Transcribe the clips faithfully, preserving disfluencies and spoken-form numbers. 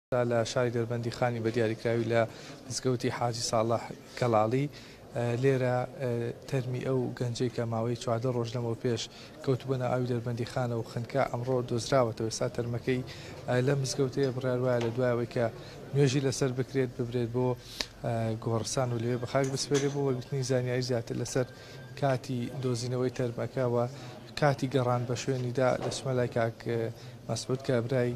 لە شاری دەربەندیخانی بە دیاریکراوی لە مزگەوتی حاجی ساڵح گەڵاڵی لێرە تەرمی ئەو گەنجەی کە ماوەی چواردە ڕۆژ لەمەوە پێش کەوتبووە ناو ئاوی دەربەندیخانە و خنکا ئەمڕۆ دۆزراوەتەوە. ئێستا تەرمەکەی لە مزگەوتەیە، بڕیار وایە لە دوایەوەی کە نوێژی لەسەر بکرێت ببرێت بۆ گۆڕستان و لەوێ بە خاک بسپێرێ. بۆ وەرگرتنی زانیاری زیاتر لەسەر کاتی دۆزینەوەی تەرمەکە و کاتی گەڕان بە شوێنیدا دەچمە لای کاک مەسعود کە برای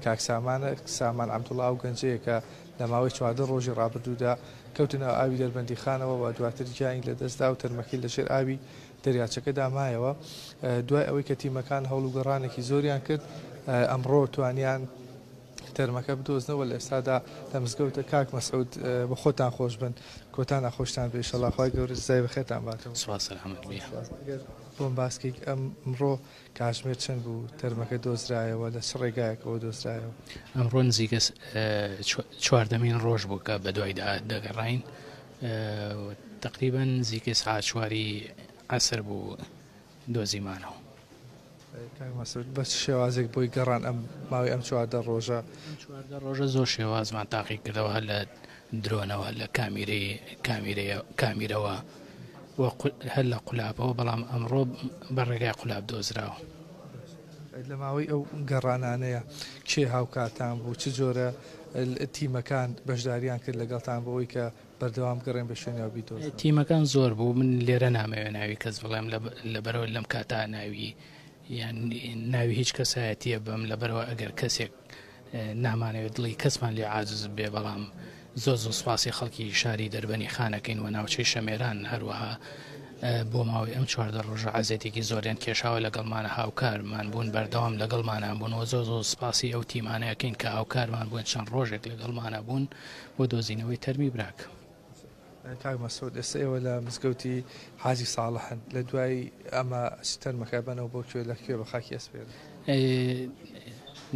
کاک سامانە. سامان عەبدوڵڵا ئەو گەنجەیە کە لە ماوەی چواردە ڕۆژی ڕابردوودا کەوتنە ئاوی دەربەندیخانەوە و دواتر گیانی لەدەستدا و تەرمەکەی لەژێر ئاوی دەریاچەکەدا مایەوە. دوای ئەوەی کە تیمەکان هەوڵ و گەڕانێکی زۆریان کرد ئەمڕۆ توانیان تەرمەکە بدۆزنەوە. لە ئێستادا لە مزگەوتە کاک مەسعود بە خۆتان خۆش بن، کۆتان ناخۆشتان بێ، ئینشەڵڵا خوای گەورە جزای بەخێرتان باتەوە. سوپاس، سەلامەت بی. بۆم باسکەیت ئەمڕۆ کاتژمێر چەند بوو تەرمەکە دۆزرایەوە، لە چ ڕێگایەکەوە دۆزرایەوە؟ ئەمڕۆ نزیکە چواردەمین ڕۆژ بوو کە بە دوای دەگەڕاین، تقریبا نزیکە ساعت چواری عەسر بوو دۆزیمانەوە. کاک مەسعود بە چ شێوازێک بۆی گەڕان ئەم ماوەی ئەم چواردە ڕۆژە؟ چواردە ڕۆژە زۆر شێوازمان تاقی کردەوە، هەر لە درۆنەوە، لە کامیرەی کامیرەوە و هەر لە قولابەوە، بەڵام ئەمڕۆ بە ڕێگای قولاب دۆزراوە. لە ماوەی ئەو گەڕانانەیە کێ هاوکارتان بوو؟ چ جۆرە تیمەکان بەشداریان کرد لەگەڵتان بۆ ئەوەی کە بەردەوام گەڕێن بە شوێنیەوە بیدۆزن؟ تیمەکان زۆر بوو، من لێرە نامەوێ ناوی کەس بڵێم، لەبەرەوە لەم کاتا ناوی یان ناوی هیچ کەسایەتیە بم، لەبەرەوە ئەگەر کەسێک نامانەوێت دڵی کەسمان لێ عاجز بێ. بەڵام زۆر زۆر سوپاسی خەڵکی شاری دەربەنی خانەکەین و ناوچەی شەمێران، هەروەها بۆ ماوەی ئەم چواردە ڕۆژە عەزێتێکی زۆریان کێشاوە لەگەڵمانە، هاوکارمان بوون، بەردەوام لەگەڵمانە بوون و زۆر زۆر سوپاسی ئەو تیمانەکەین کە هاوکارمان بوون چەند ڕۆژێک لەگەڵمانە بوون بۆ دۆزینەوەی تەرمی براک. کاک مەسعود ئێستا ئێوە لە مزگەوتی حاجی ساڵحن، لە دوای ئەمە تەرمەکە بەنەوە بۆ کوێ، لە کوێ بە خاکی ئەسپێرن؟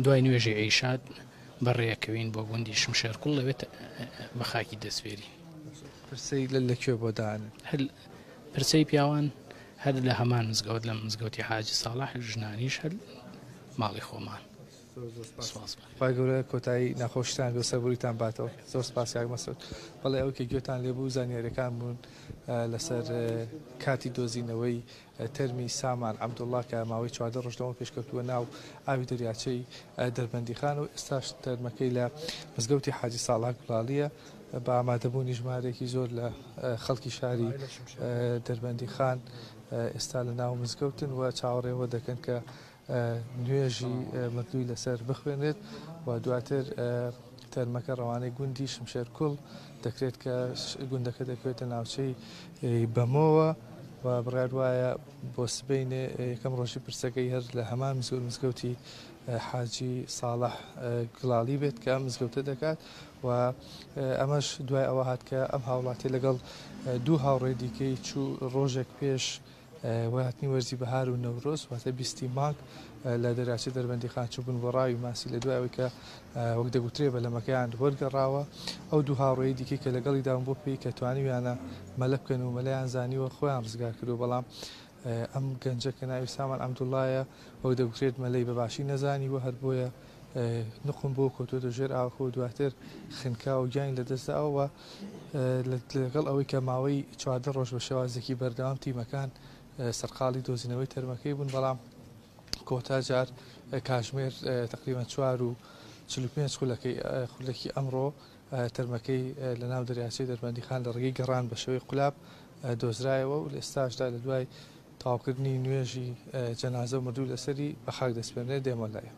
دوای نوێژی عیشات بەڕێەکەوین بۆ گوندی شمشێرکوڵ، لەوێت بە خاکی دەسپێرین. پرسەی لە کوێ بۆ دانن؟ پرسەی پیاوان هەر لە هەمان مزگەوت، لە مزگەوتی حاجی ساڵح، ژنانیش هەر ماڵی خۆمان. خوای گەورە کۆتایی ناخۆشتان بێ سەربوریتان باتەوە. زۆر سپاس کاک مەسعود. بەڵێ ئەو کە گوێتان لێبوو زانیاریەکان بوون لەسەر کاتی دۆزینەوەی تەرمی سامان عەبدوڵڵا کە ماوەی چواردە ڕۆژ لەمەوە پێشکەوتووە ناو ئاوی دەریاچەی دەربەندیخان و ئێستاش تەرمەکەی لە مزگەوتی حاجی ساڵح گوڵاڵیە بە ئامادەبوونی ژمارەیەکی زۆر لە خەڵکی شاری دەربەندیخان ئێستا لە ناو مزگەوتن و چاوەڕێوە دەکەن کە نوێژی مردووی لەسەر بخوێنێت و دواتر تەرمەکە ڕەوانەی گوندی شمشێرکوڵ دەکرێت کە گوندەکە دەکەوێتە ناوچەی بەمۆوە و بڕیار وایە بۆ سبەینێ یەکەم ڕۆژی پرسەکەی هەر لە هەمان مزگەوتی حاجی ساڵح گڵاڵی بێت کە ئەم مزگەوتە دەکات و ئەمەش دوای ئەوە هات کە ئەم هاوڵاتی لەگەڵ دوو هاوڕێ دیکەی چوو ڕۆژێک پێش وهاتنی وەرزی بەهار و نەورۆز، واتە بیستی مانگ لە دەریاچەی دەربەندیخان چووبوون بۆ ڕاوی ماسی. لە دوای ئەوەی کە وەک دەگوترێ بەلەمەکەیان وەرگەڕاوە، ئەو دوو هاوڕێی دیکەی کە لەگەڵی داون بۆ پێی کە توانیویانە مەلە بکەن و مەلەیان زانیوە خۆیان ڕزگار کردو، بەڵام ئەم گەنجە کە ناوی سامان عەبدوڵڵایە وەک دەگوترێت مەلەی بەباشی نەزانیوە، هەر بۆیە نقم بۆ کەوتووەتە ژێر ئاوەکە و دواتر خنکا و گیانی لەدەستداوە. لەگەڵ ئەوەی کە ماوەی چواردە ڕۆژ بە شێوازێکی بەردەوام تیمەکان سەرقاڵی دۆزینەوەی تەرمەکەی بوون، بەڵام کۆتا جار کاتژمێر تقریبا چوار و چل و پێنج خولەکی ئەمڕۆ تەرمەکەی لە ناو دەریاچەی دەربەندیخان لە ڕێگەی گەڕان بە شێوەی قولاب دۆزرایەوە و لە ئێستاشدا لە دوای تەواوکردنی نوێژی جەنازە و مردوو لەسەری بە خاک دەسپێنرێت. دێمە لایە.